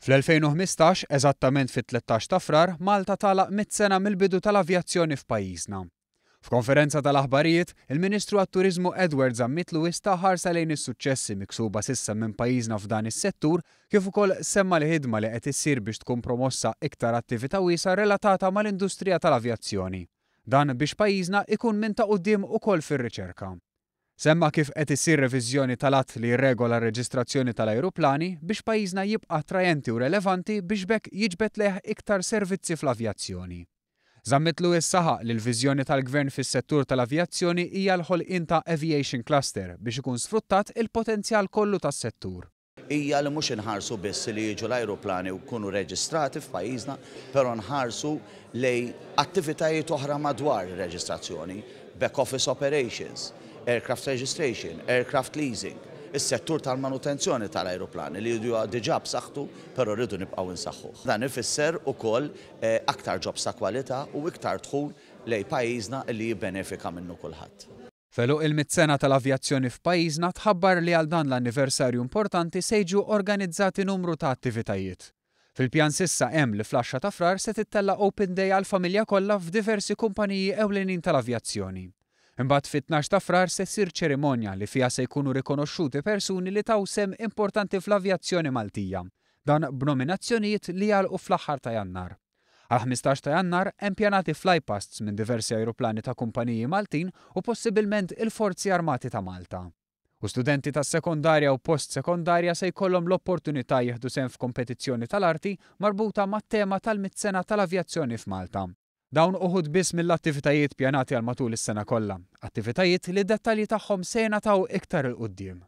Fl-2015, eżattament fit-13 ta' Frar, Malta tagħlaq 100 sena mill-bidu tal-avjazzjoni f'pajjiżna. F'konferenza tal-aħbarijiet, il-Ministru għat-Turiżmu Edward Zammit Lewis ta ħarsa lejn is-suċċessi miksuba s'issa minn pajjiżna f'dan is-settur kif ukoll semma l-ħidma li qed issir biex tkun promossa iktar attività wiesgħa relatata mal-industrija tal-avjazzjoni. Dan biex pajjiżna ikun minn ta' quddiem ukoll fir-riċerka. Semma kif qed issir reviżjoni tal-att li jirregola r-reġistrazzjoni tal-ajruplani biex pajjiżna jibqa' attrajenti u relevanti biex b'hekk jiġbed lejh iktar servizzi fl-avjazzjoni. Zammit Lewis saħaq li l-viżjoni tal-Gvern fis-settur tal-avjazzjoni hija l-ħolqien ta' aviation cluster biex ikun sfruttat il-potenzjal kollu tas-settur. Hija li mhux inħarsu biss li jiġu l-ajruplani u jkunu reġistrati f'pajjiżna, però nħarsu lejn attivitajiet oħra madwar ir-reġistrazzjoni, back office operations, aircraft registration, aircraft leasing, is-settur tal-manutenzjoni tal-ajruplani li huwa diġà b'saħħtu però rridu nibqgħu nsaħħuh. Dan ifisser ukoll aktar jobs ta' kwalità u iktar dħul lejn pajjiżna li jibbenefika minnu kulħadd. F'għeluq il-mitt sena tal-avjazzjoni f'pajjiżna tħabbar li għal dan l-anniversarju importanti se jiġu organizzati numru ta' attivitajiet. Fil-pjan s'issa hemm li fl-għaxra ta' Frar se tittella' Open Day għall-familja kollha f'diversi kumpaniji ewlenin tal-avjazzjoni. Imbagħad fit-tnax ta' Frar se ssir ċerimonja li fiha se jkunu rikonoxxuti persuni li taw sehem importanti fl-avjazzjoni Maltija. Dan b'nominazzjonijiet li jagħlqu fl-aħħar ta' Jannar. Għall-15 ta' Jannar hemm pjanati flypasts minn diversi ajruplani ta' kumpaniji Maltin u possibilment il-Forzi Armati ta' Malta. U studenti tas-sekondarja u post-sekondarja se jkollhom l-opportunità jieħdu sehem f'kompetizzjoni tal-arti marbuta mat-tema tal-mitt sena tal-avjazzjoni f'Malta. Dawn uħud biss mill-attivitajiet pjanati għal matul is-sena kollha, attivitajiet li d-dettalji tagħhom se jingħataw iktar 'il quddiem.